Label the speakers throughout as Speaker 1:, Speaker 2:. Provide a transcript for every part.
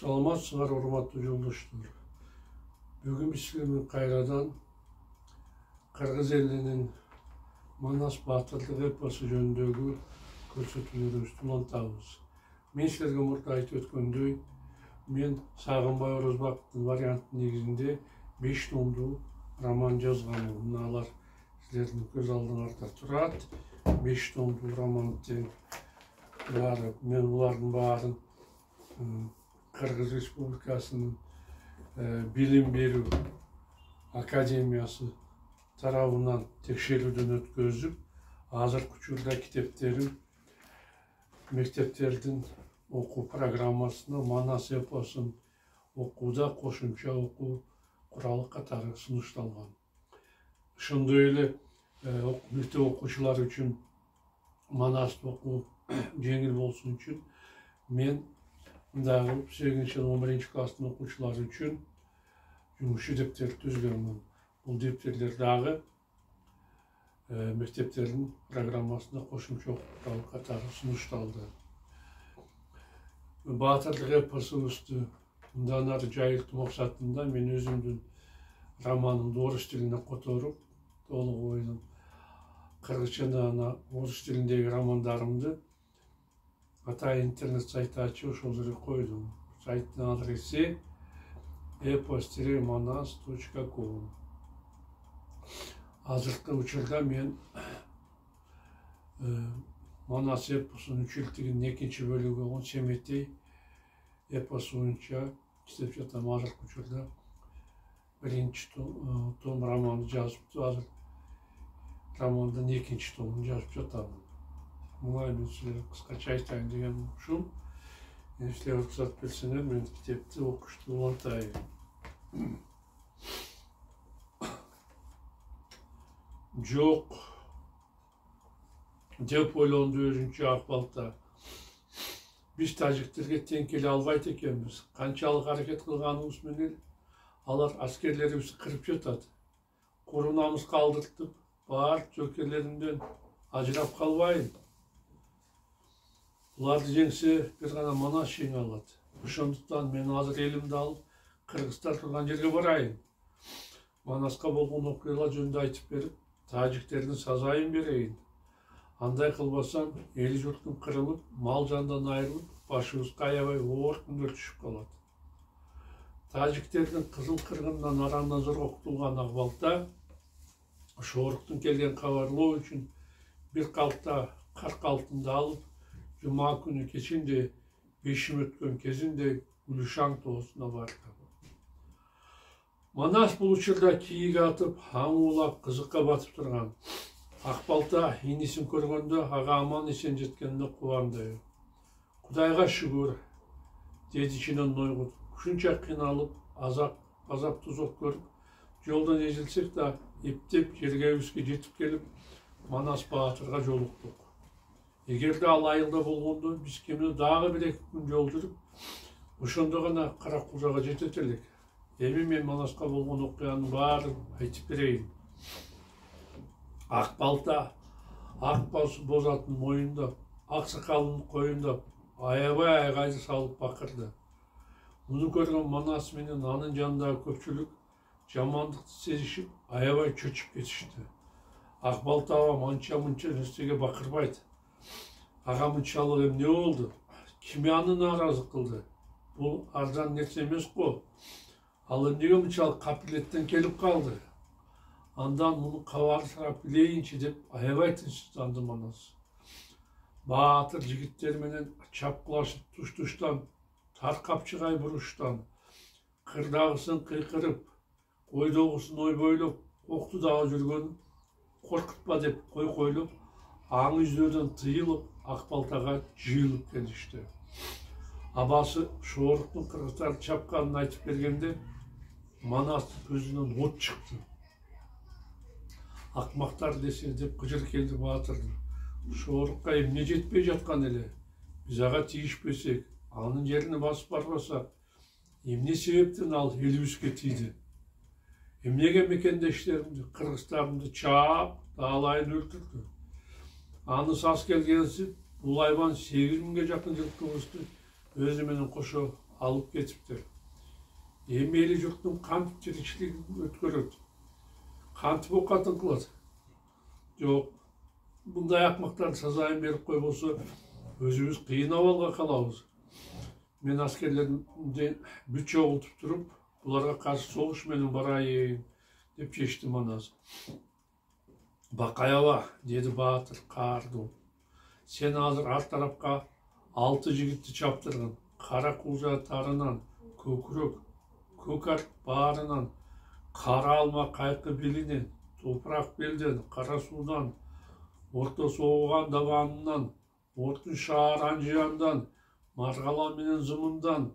Speaker 1: Саламатсыздар, урматтуу жолдоштор. Бүгүн биз силер кайрадан кыргыз элинин Манас баатырдык эпосу жөнүндөгү көрсөтүүлөрүбүздү улантабыз. Мен силерге мурда айтып өткөндөй, мен Сагынбай Орозбаковдун варианты негизинде 5 томдуу роман жазганмын. Мыналар силердин көз алдыңарда турат. 5 томдуу романды мен булардын баарын Кыргыз Республикасынын билим берүү академиясы тарабынан текшерүүдөн өткөзүп, азыркы учурда китептерин мектептердин окуу программасына Манас эпосун окууда кошумча окуу куралы катары сунушталган. Ошондой эле мектеп окуучулар үчүн Манасты окуу жеңил болсун үчүн мен дагы 8-11 класстын окуучулары үчүн жумушчу дептер түзгөнмүн. Бул дептерлер дагы мектептердин программасына кошумча окуу катары сунушталды. Баатырдык эпосубузду мындан ары жайылтуу максатында мен өзүмдүн романымды орус тилине которуп, толук ойдум кыргызча орус тилиндеги романдарымды атайын интернет сайт ачып ошол жерге койдум. Сайттын адреси epos-manas.com. Азыркы учурда мен Манас эпосунун 3 жылдыгынын 2 бөлүгү болгон Семетей эпосу боюнча иштеп жатам. Азыркы учурда 1 том романды жазыптым. Азыр романдын 2 томун жазып жатам. Мына мен силерге кыскача айтайын деген ушул. Силер уруксат берсеңер, мен китепти окушту улантайын. Жок деп ойлонду өзүнчө Акбалта. Биз тажиктерге тең келе албайт экенбиз. Канчалык аракет кылганыбыз менен алар аскерлерибизди кырып жатат. Курунамыз калдыртып, баар жөкерлеримден ажырап калбайын. Буларды жеңсе бир гана Манас жеңе алат. Ошондуктан мен азыр элимди алып кыргыздар турган жерге барайын. Манаска болгон окуялар жөнүндө айтып берип, тажиктердин сазайын берейин. Андай кылбасам, эл журтум кырылып, мал жандан айрылып, башыбызга аябай оор күндөр түшүп калат. Тажиктердин кызыл кыргынынан арамдан зор окутулган Акбалта шооруктун келген кабарлоо үчүн бир калпта карк алтынды алып, жума күнү кечинде бешим өткөн кезинде Гүлшан тоосуна барды. Манас бул учурда кийик атып, аң улап, кызыкка батып турган. Акбалта инисин көргөндө ага аман эсен жеткенине кубанды. Кудайга шүгүр, деди ичинен ойгут. Ушунча кыйналып, азап тузак көрүп, жолдон эзилсек да, эптеп жергебизге жетип келип, Манас баатырга жолуктук. Эгерде ал айылда болгондо, биз кемине дагы 1-2 күн жол жүрүп, ошондо гана Каракулжага жетет элек. Эми мен Манаска болгон окуянын баарын айтып берейин. Акбалта ак боз атын моюндап, ак сакалын коюндап, аябай айгайды салып бакырды. Муну көргөн Манас менен анын жанындагы көпчүлүк жамандыкты сезишип, аябай чөчүп кетишти. Акбалта манча-мынча нерсеге бакырбайт. Ага мынчалык эмне болду? Ким аны нааразы кылды? Бул арзан нерсе эмес го. Ал эмнеге мынчалык капилеттен келип калды? Андан муну кабарын сурап билейинчи деп аябай тынчсызданды Манас. Баатыр жигиттер менен чапкылашып туш-туштан, таркапчыгай буруштан, кырдагысын кыйкырып, койдогусун ойбойлоп, окту дагы жүргөн коркутпа деп койкойлоп, аң издөөдөн тыйылып, Акбалтага жыйылып келишти. Абасы шооруктун кыргыздарды чапканын айтып бергенде Манастын көзүнөн от чыкты. Акмактар десе деп кыжыр келди Баатырдын. Шоорукка эмне жетпей жаткан эле? Биз ага тийишпесек, анын жерине басып барбасак, эмне себептен ал элибизге тийди? Эмнеге мекендештеримди, кыргыздарымды чаап, даалайын өлтүрдү? Аны сас келгенсип, бул айбан 8 миңге жакын жылкыбызды өзү менен кошо алып кетиптир. Эми эли журттун кантип тиричилигин өткөрөт, кантип окатын кылат? Жок, мындай акмактарды сазайын берип койбосо өзүбүз кыйын абалга калабыз. Мен аскерлерди бүт чогултуп туруп, буларга каршы согуш менен барайын деп чечтим анасы. Бакай аба, деди Баатыр каардуу. Сен азыр ар тарапка 6 жигитти чаптыргын. Кара кулжа тарынан, көкүрөк, көк арт баарынан, кара алма кайкы белинен, топурак белден, кара суудан, орто соогуган дабанынан, Ортун шаар Анжияндан, Маргала менен Зымындан,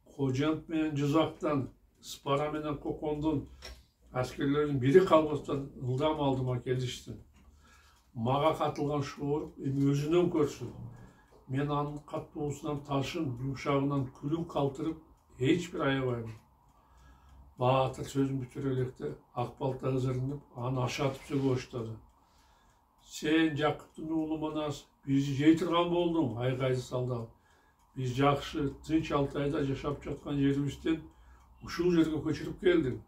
Speaker 1: Кожент менен Жызактан, Спара менен Кокондон аскерлердин бири калбастан ылдам алдыма келишти. Мага катылган шоор эми өзүнөн көрсүн. Мен анын каттуусунан ташын, жумшагынан күлүн калтырып, эч бир аябайм. Баатыр сөзүн бүтүрө электе ак балта ызырынып, аны ашатып сөйгө баштады. Сен Жакыптын уулу Манас, бизди жей турган болдуң, айгайды салды. Биз жакшы, тынч Алтайда жашап жаткан жерибизден ушул жерге көчүрүп келдиң.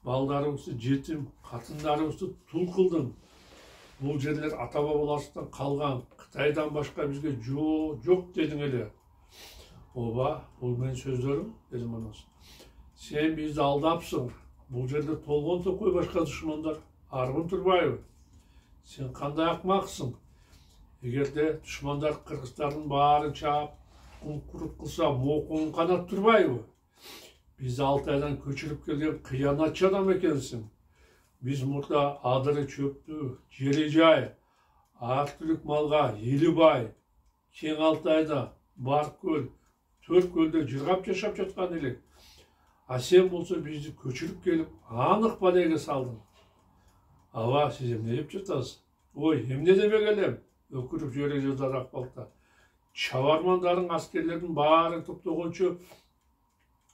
Speaker 1: Балдарыбызды жетим, катындарыбызды тул кылдың. Бул жерлер ата бабаларыбыздан калган, Кытайдан башка бизге жок дедиң эле. Ооба, бул менин сөздөрүм, деди Манас. Сен бизди алдапсың. Бул жерде толгон токой башка душмандар аргын турбайбы? Сен кандай акмаксың? Эгерде душмандар кыргыздардын баарын чаап, кумкурук кылса, мокуң канат турбайбы? Биз Алтайдан көчүрүп келген кыянатчы адам экенсиң. Биз мурда адыры чөптү, жери жай, ар түрлүк малга эли бай, кең Алтайда бар көл, 4 көлдө жыргап жашап жаткан элек. А сен болсо бизди көчүрүп келип, анык балеге салдың. Аба, сиз эмне деп жатасыз? Ой, эмне дебек элем? Өкүрүп жибере жаздады ак балта. Чабармандардын аскерлердин баарын топтогончо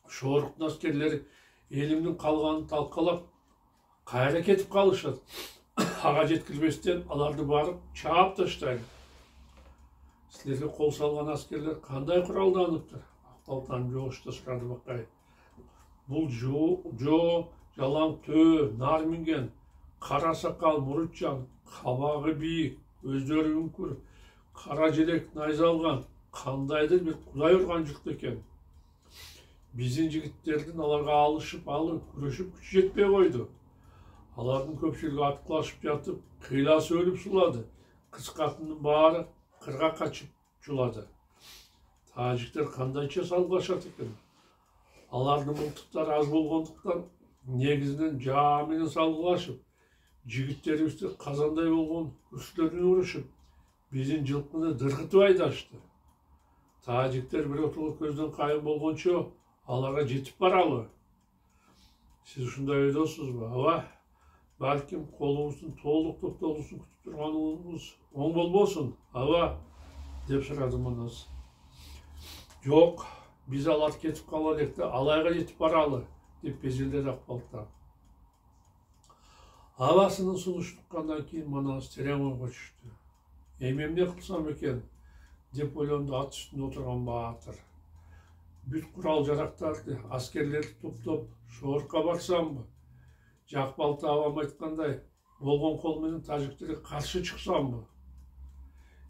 Speaker 1: Шооруктун аскерлери элимдин калганын талкалап, кайра кетип калышат. Ага жеткирбестен аларды барып чаап таштайт. Силерге кол салган аскерлер кандай куралданыптыр? Ак балтанын жоошто сурады Бакай. Бул жалаң төө, нар минген, кара сакал мурутчан, кабагы бийик, көздөрү үңкүр, кара желек найза алган, кандайдыр бир кудай урган журт экен. Биздин жигиттердин аларга алышып, күрөшүп күчү жетпей койду. Алардын көпчүлүгү аткылашып жатып, кыйласы өлүп сулады. Кыз катындын баары кырга качып жулады. Тажиктер кандайча салгылашат экен? Алардын мылтыктары аз болгондуктан негизинен жаа менен салгылашып, жигиттерибизди казандай болгон күрсүлөрүнө урушуп, биздин жылкыны дыргытып айдашты. Тажиктер биротоло көздөн кайын болгончо аларга жетип баралы. Сиз ушундай ойдосузбу? Аба, балким колубуздун толук топтолуусун күтүп турганыбыз оң болбосун, аба, деп сурады Манас. Жок, биз алар кетип кала электе алайга жетип баралы, деп безилдеди ак балта. Абасынын сунуш туккандан кийин Манас терең ойго түштү. Эми эмне кылсам экен, деп ойлонду ат үстүндө отурган Баатыр. Бүт курал жарактарды, аскерлерди топтоп, Шоорукка барсамбы? Жак балта абам айткандай, болгон кол менен тажиктерге каршы чыксамбы?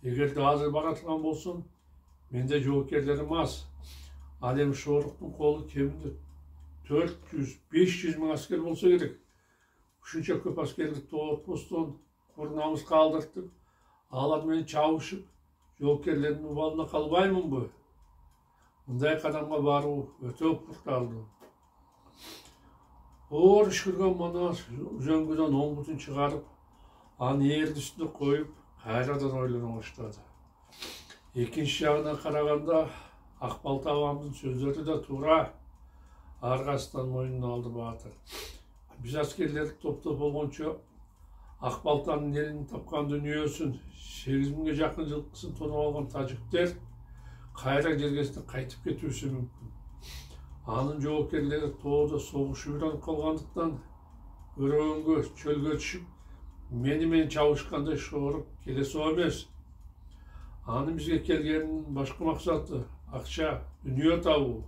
Speaker 1: Эгерде азыр бара турган болсом, менде жоокерлерим аз. Ал эми Шооруктун колу кеминде 400-500 миң аскер болсо керек. Ушунча көп аскерди тоотпостон курнамыз калдыртып, алар менен чабышып, жоокерлердин убалына калбаймынбы? Мындай кадамга баруу өтө курталдуу. Оор үшкүргөн Манас үзөңгүдөн оң бутун чыгарып, аны эрди үстүнө коюп, кайрадан ойлоно баштады. Экинчи жагынан караганда, ак балта абамдын сөздөрү да туура. Аргасынан мойнуна алды Баатыр. Биз аскерлерди топтоп болгончо, ак балтанын элин тапкан дүйнөсүн, 8 миңге жакын жылкысын тонуп алган тажиктер кайра жергесине кайтып кетүүсү мүмкүн. Анын жоокерлери тоодо согушуп үйрөнүп калгандыктан өрөөнгө, чөлгө түшүп, мени менен чабышкандай Шоорук келесоо эмес. Анын бизге келгенинин башкы максаты акча, дүнүйө табуу.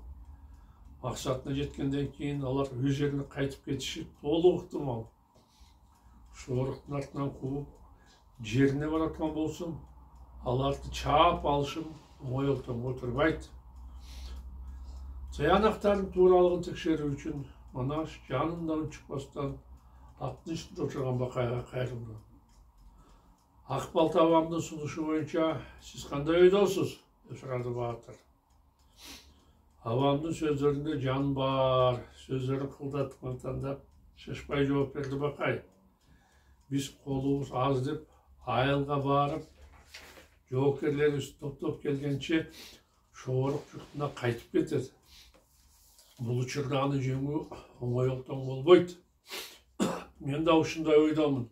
Speaker 1: Максатына жеткенден кийин алар өз жерине кайтып кетиши толук ыктымал. Шооруктун артынан кууп жерине бараткан болсун, аларды чаап алышым оңой олтонго турбайт. Саянактардын тууралыгын текшерүү үчүн Манаш жанында унчукпастан аттын үстүндө отурган Бакайга кайрылды. Ак бал табамдын сунушу боюнча сиз кандай ойдосуз? Деп сурады Баатыр. Абамдын сөздөрүндө жан бар, сөздөрүн кылдатып тандап, шашпай жооп берди Бакай. Биз колубуз аз деп айылга барып, жоокерлерибиз топтоп келгенче Шоорук журтуна кайтып кетет. Бул учурда аны жеңүү оңой олтон болбойт. Мен да ушундай ойдомун.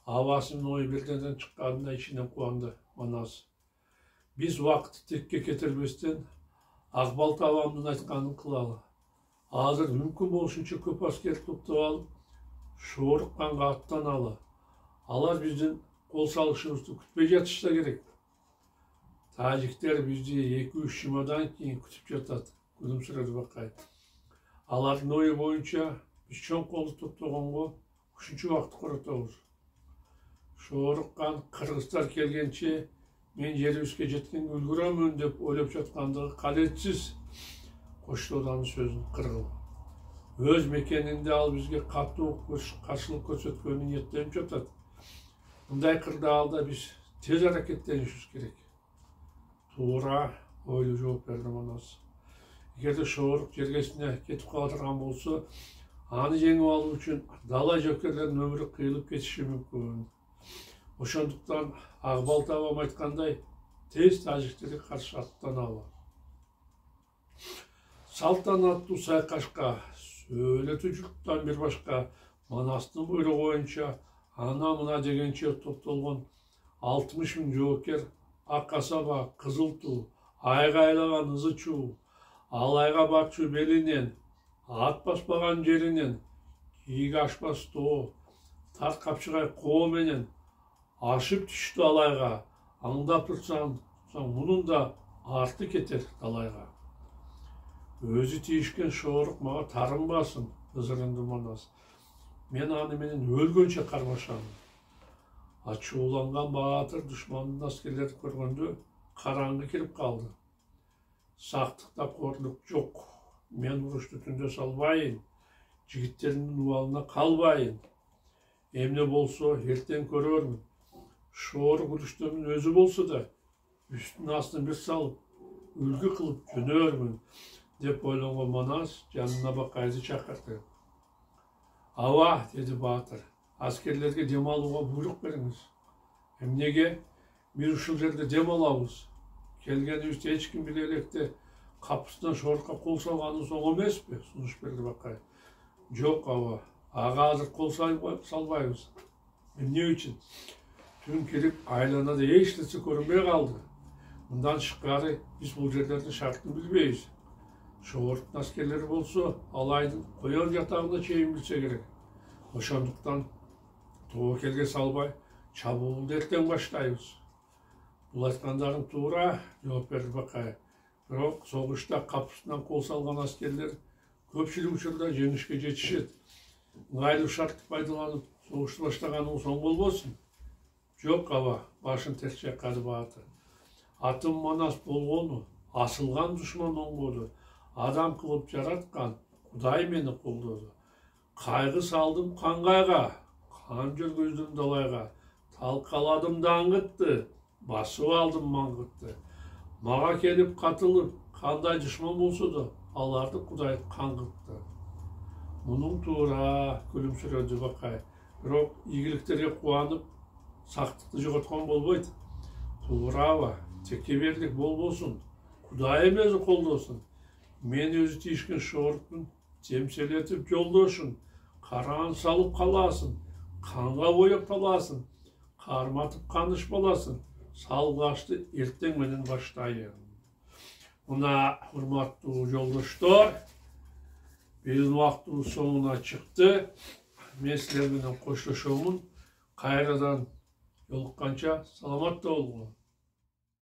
Speaker 1: Абасынын ою бирденден чыкканына ичинен кубанды Манас. Биз убакытты текке кетирбестен Ак бал табамдын айтканын кылалы. Азыр мүмкүн болушунча көп аскер топтоп алып, Шоорук канга аттаналы. Алар биздин кол салышыбызды күтпөй жатышса керек. Тажиктер бизди 2-3 жумадан кийин күтүп жатат, күлүмсүрөдү Бакай. Алардын ою боюнча биз чоң колду топтогонго ушунча убакыт коротобуз. Шоорук кан кыргыздар келгенче мен жерибизге жеткенге үлгүрөмүн деп ойлоп жаткандыгы кадетсиз. Коштоодо анын сөзүн кыргыл. Өз мекенинде ал бизге катуу каршылык көрсөткөнүн ниеттенип жатат. Мындай кырдаалда биз тез аракеттенишибиз керек. Туура, ойлуу жооп берди Манас. Эгерде Шоорук жергесине кетип кала турган болсо, аны жеңип алуу үчүн дала жокерлердин өмүрү кыйылып кетиши мүмкүн. Ошондуктан Ак бал табам айткандай, тез тажиктерге каршы аттаналы. Салтанаттуу сайкашка сөөлөтүү журттан бир башка Манастын буйругу боюнча ана мына дегенче топтолгон 60 000 жоокер ак асаба, кызыл туу, айгайлаган ызы чуу, алайга барчу белинен, ат баспаган жеринен, кийиги ашпас тоо, тарт капчыгай коо менен ашып түштү алайга. Аңдап турсаң, мунун да арты кетер талайга. Өзү тийишкен Шоорук мага тарынбасын, ызырынды Манас. Мен аны менен өлгөнчө кармашам. Ачууланган Баатыр душмандын аскерлерин көргөндө караңгы кирип калды. Сактыкта корлук жок. Мен урушту түндө салбайын, жигиттеримдин убалына калбайын. Эмне болсо эртең көрөрмүн. Шоорук уруштумун өзү болсо да, үстүн астын бир салып, үлгү кылып жөнөрмүн, деп ойлонгон Манас жанына Бакайды чакырды. Аба, деди Баатыр, аскерлерге дем алууга буйрук бериңиз. Эмнеге? Биз ушул жерде дем алабыз. Келгенибизди эч ким биле электе капысынан Шоорукка кол салганыбыз оң эмеспи? Сунуш берди Бакай. Жок, аба, ага азыр кол салбайбыз. Эмне үчүн? Түн кирип, айланада эч нерсе көрүнбөй калды. Мындан тышкары биз бул жерлердин шартын билбейбиз. Шооруктун аскерлери болсо, алайдын коён жатагына чейин билсе керек. Ошондуктан тобокелге салбай, чабуулду эртең баштайбыз. Бул айткандарың туура, жооп берди Бакай. Бирок согушта капысынан кол салган аскерлер көпчүлүк учурда жеңишке жетишет. Ыңгайлуу шартты пайдаланып, согушту баштаганыбыз оң болбосун? Жок, аба, башын терс чайкады Баатыр. Атым Манас болгону, асылган душман оңгоду. Адам кылып жараткан Кудай мени колдоду. Кайгы салдым кангайга, кан жүргүздүм далайга. Талкаладым даңгытты, басып алдым маңгытты. Мага келип катылып, кандай душман болсо да, аларды Кудай каңгытты. Мунун туура, күлүмсүрөдү Бакай. Бирок ийгиликтерге кубанып, сактыкты жоготкон болбойт. Туурабы, текеберлик болбосун, Кудай эмези колдосун. Мен өзү тийишкен Шооруктун темселетип жолдошун, караан салып каласын, канга боеп таласын, карматып каныш баласын, салгачты эртең менен баштайын. Мына, урматтуу жолдоштор, биздин убактыбыз соңуна чыкты. Мен силер менен коштошомун. Кайрадан жолукканча саламатта болгула.